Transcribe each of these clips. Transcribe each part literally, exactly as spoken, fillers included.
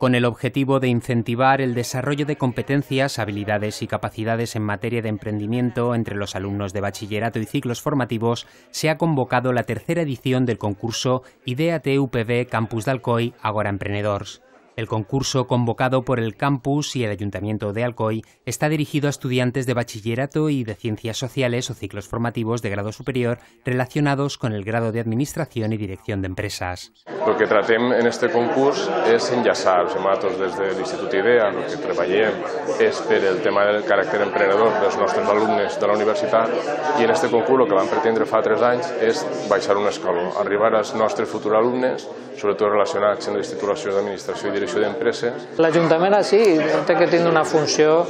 Con el objetivo de incentivar el desarrollo de competencias, habilidades y capacidades en materia de emprendimiento entre los alumnos de bachillerato y ciclos formativos, se ha convocado la tercera edición del concurso IDEAT U P V Campus d'Alcoi Agora Emprenedors. El concurso, convocado por el campus y el Ayuntamiento de Alcoi, está dirigido a estudiantes de bachillerato y de ciencias sociales o ciclos formativos de grado superior relacionados con el grado de Administración y Dirección de Empresas. El que tratem en este concurs és enllaçar, nosaltres des de l'Institut IDEA, el que treballem és per el tema del caràcter emprenedor dels nostres alumnes de la universitat, i en este concurs el que vam pretendre fa tres anys és baixar un escaló, arribar als nostres futurs alumnes, sobretot relacionats amb les titulacions d'Administració i Direcció d'Empreses. L'Ajuntament sí, té que tindre una funció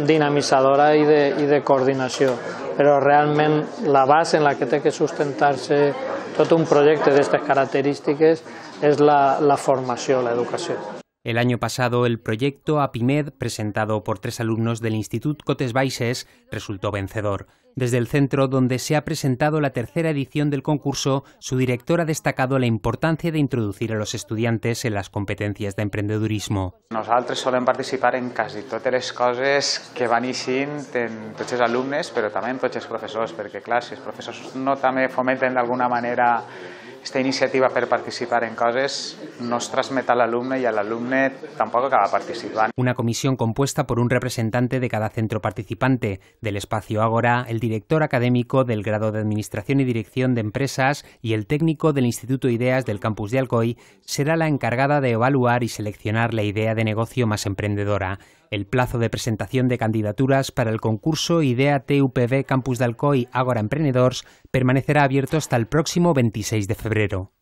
dinamitzadora i de, i de coordinació, però realment la base en la que té que sustentar-se tot un projecte d'aquestes característiques es la, la formació, la educación. El año pasado, el proyecto APIMED, presentado por tres alumnos del Institut Cotes Baixes, resultó vencedor. Desde el centro donde se ha presentado la tercera edición del concurso, su director ha destacado la importancia de introducir a los estudiantes en las competencias de emprendedurismo. Nosaltres solem participar en quasi totes les coses que van eixint en tots els alumnes, però també en tots els professors, perquè clar, si els professors no també fomenten d'alguna manera esta iniciativa per participar en coses, no es transmet a l'alumne i l'alumne tampoc acaba participant. Una comisión compuesta por un representante de cada centro participante. Del espacio Ágora, el director académico del grado de Administración y Dirección de Empresas y el técnico del Instituto Ideas del campus de Alcoi será la encargada de evaluar y seleccionar la idea de negocio más emprendedora. El plazo de presentación de candidaturas para el concurso IDEAT U P V Campus d'Alcoi Agora Emprenedors permanecerá abierto hasta el próximo veintiséis de febrero.